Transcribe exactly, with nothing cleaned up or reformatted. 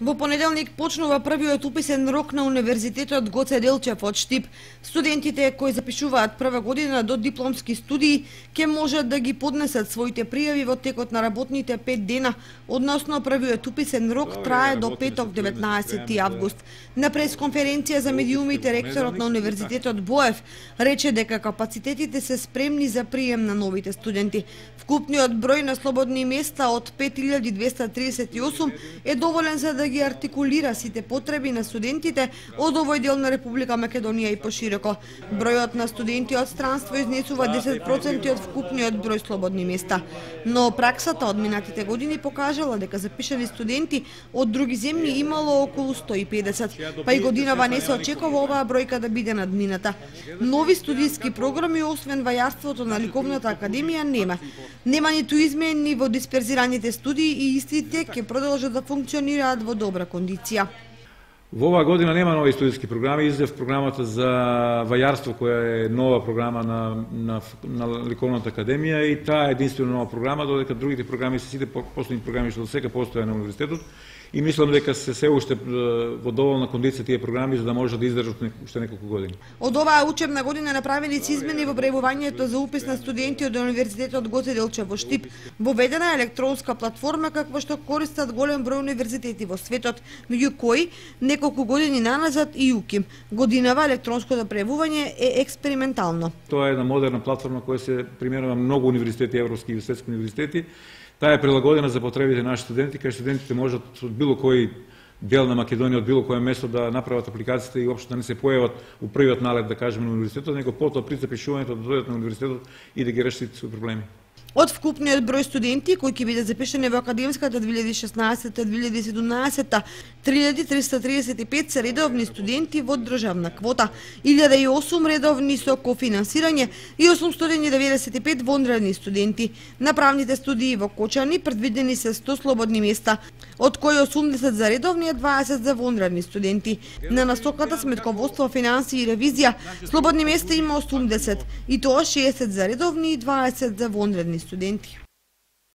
Во понеделник почнува првиот уписен рок на Универзитетот Гоце Делчев од Штип. Студентите кои запишуваат прва година до дипломски студии ќе можат да ги поднесат своите пријави во текот на работните пет дена, односно првиот уписен рок трае до петок деветнаесети август. На пресконференција за медиумите ректорот на Универзитетот Боев рече дека капацитетите се спремни за прием на новите студенти. Вкупниот број на слободни места од пет илјади двесте триесет и осум е доволен за да ги артикулира сите потреби на студентите од овој дел на Република Македонија и пошироко. Бројот на студенти од странство изнесува десет проценти од вкупниот број слободни места. Но праксата од минатите години покажала дека запишани студенти од други земји имало околу сто и педесет, па и годинава не се очекува оваа бројка да биде надмината. Нови студиски програми освен вајарството на Ликовната академија нема. Нема ниту измени во дисперзираните студии и истите ќе продолжат да функционираат во добра кондиција. Во оваа година нема нови студиски програми, иззев програмата за вајарство која е нова програма на, на, на Ликовната академија и таа е единствено нова програма, додека другите програми се сите последни програми што до сега постоја на универзитетот. И мислам дека се се уште во доволна кондиција тие програми за да можат да издржат уште неколку години. Од оваа учебна година направени се измени во бројувањето за упис на студенти од Универзитетот Гоце Делчев во Штип. Воведена е електронска платформа каква што користат голем број универзитети во светот, меѓу кои неколку години наназад и УКИМ. Годинава електронското прејавување е експериментално. Тоа е една модерна платформа која се применува многу универзитети, европски и светски универзитети. Таа е прилагодена за потребите на нашите студенти, кај студентите можат од било кој дел на Македонија, од било кое место да направат апликациите и општо да не се појават у првиот налет, да кажеме, на универзитетот, него потоа при запишувањето да дојдат на универзитетот и да ги решат своји проблеми. Од вкупниот број студенти кои ќе бидат запишани во академската две илјади и шеснаесета - две илјади и седумнаесета, три илјади триста триесет и пет се редовни студенти во државна квота, илјада и осум редовни со кофинансирање и осумстотини и деветдесет и пет вонредни студенти. На правните студии во Кочани предвидени се сто слободни места, од кои осумдесет за редовни и дваесет за вонредни студенти. На насоката сметководство, финансии и ревизија слободни места има осумдесет, и тоа шеесет за редовни и дваесет за вонредни студенти.